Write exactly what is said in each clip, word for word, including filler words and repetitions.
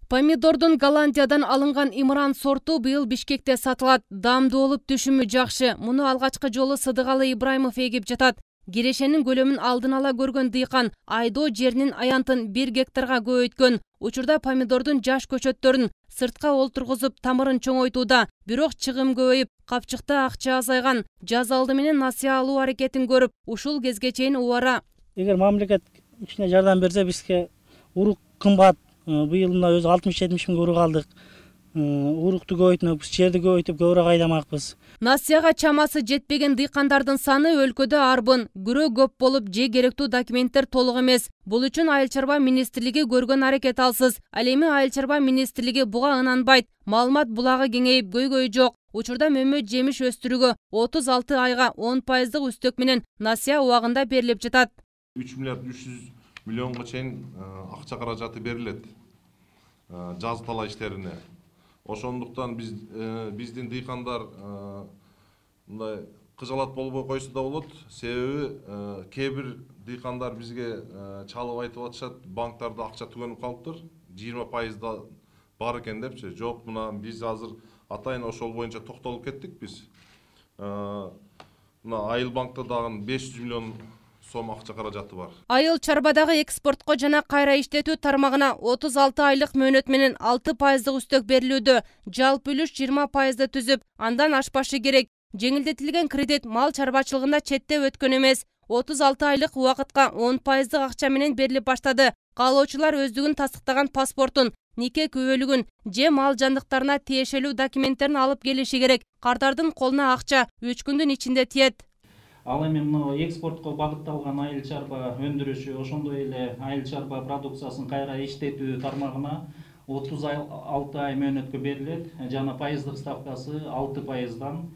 Помидордун Голландиядан алынган имран сорту быйыл Бишкекте сатылат. Дамдуу болуп, түшүмү жакшы. Муну алгачкы жолу Сыдыгалы Ибраимов эгип жатат. Кирешенин көлөмүн алдын ала көргөн дыйкан айдоо жеринин аянтын бир гектарга көбөйткөн. Учурда помидордун жаш көчөттөрүн сыртка олтургузуп тамырын чоңойтууда. Бирок чыгым көбөйүп, капчыкта акча азайган. Жаз алды менен насыя алуу аракетин көрүп, ушул кезге чейин убара. Эгер мамлекет ичине жардам берсе, бизге урук кымбат. Быйыл мына өзү алтымыш жетимиш миңге урук алдык. Урукту көбөйтмөкпүз, жерди көбөйтүп көбүрөөк айдамакпыз. Насыяга чамасы жетпеген дыйкандардын саны өлкөдө арбын. Күрөө көп болуп, же керектүү документтер толук эмес. Бул үчүн Айыл чарба министрлиги көргөн аракет алсыз. Ал эми Айыл чарба министрлиги буга ынанбайт. Маалымат булагы кеңейип, көйгөй жок. Учурда мөмө жемиш өстүрүүгө отуз алты айга он пайыздык үстөк менен насыя убагында берилип жатат. үч миллиард үч жүз миллионго чейин акча каражаты берилет жаз талаа иштерине. Ошондуктан биз биздин дыйкандар мындай кыжалат болбой койсо да болот. Себеби кээ бир дыйкандар бизге чалып айтып атышат, банктарда акча түгөнүп калыптыр, жыйырма пайызда бар экен депчи. Жок, мына биз азыр атайын ошол боюнча токтолуп кеттик биз. Мына Айыл банкта дагы беш жүз миллион сом акча каражаты бар. Айыл чарбадагы экспортко жана кайра иштетүү тармагына отуз алты айлык мөөнөт менен алты пайыздык үстөк берилүүдө. Жалпы үлүш жыйырма пайызды түзүп, андан ашпашы керек. Жеңилдетилген кредит мал чарбачылыгында четте өткөн эмес. отуз алты айлык убакытка он пайыздык акча менен берилип баштады. Каалоочулар өздүгүн тастыктаган паспортун, нике күбөлүгүн же мал жандыктарына тиешелүү документтерин алып келиши керек. Кардардын колуна акча үч күндүн ичинде тиет. Ал эми мына экспортко багытталган айыл чарба өндүрүшү, ошондой эле айыл чарба продукциясын кайра иштетүү тармагына отуз алты ай мөөнөткө берилет. Жана пайыздык ставкасы алты пайыздан,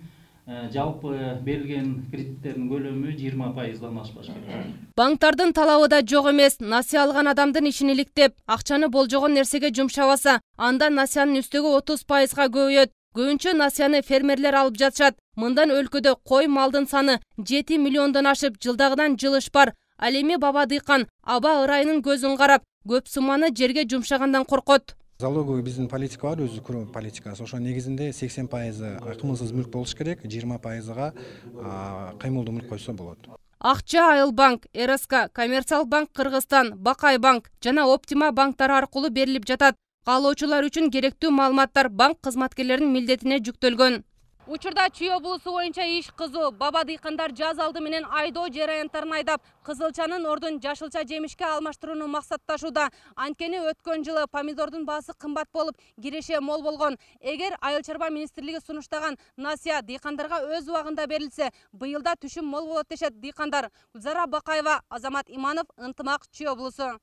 жалпы берилген кредиттердин көлөмү жыйырма пайыздан ашпаш керек. Банктардын талабы да жок эмес. Насыя алган адамдын ишин иликтеп, акчаны болжогон нерсеге жумшабаса, анда насыянын үстөгү отуз пайызга көбөйөт. Көбүнчө насыяны фермерлер алып жатышат. Мындан өлкөдө кой малдын саны жети миллиондон ашып, жылдагыдан жылыш бар. Ал эми баба дыйкан аба ырайынын көзүн карап, көп сумманы жерге жумшагандан коркот. Залоговый биздин политика бар, өзү куруу политикасы. Ошо негизинде сексен пайызы кымылсыз мүлк болуш керек, жыйырма пайызга кыймылдуу мүлк койсо болот. Акча Айыл банк, эр эс ка, Коммерциялык банк Кыргызстан, Бакай банк жана Оптима банктары аркылуу берилип жатат. Каалоочулар үчүн керектүү маалыматтар банк кызматкерлеринин милдетине жүктөлгөн. Учурда Чүй облусу боюнча иш кызуу. Баба дыйкандар жаз алды менен айдоо жер аянттарын айдап, кызылчанын ордун жашылча жемишке алмаштырууну максатташууда. Анткени өткөн жылы помидордун баасы кымбат болуп, киреше мол болгон. Эгер Айыл чарба министрлиги сунуштаган насыя дыйкандарга өз убагында берилсе, быйылда түшүм мол болот дешет дыйкандар. Гүлзара Бакаева, Азамат Иманов, Ынтымак, Чүй облусу.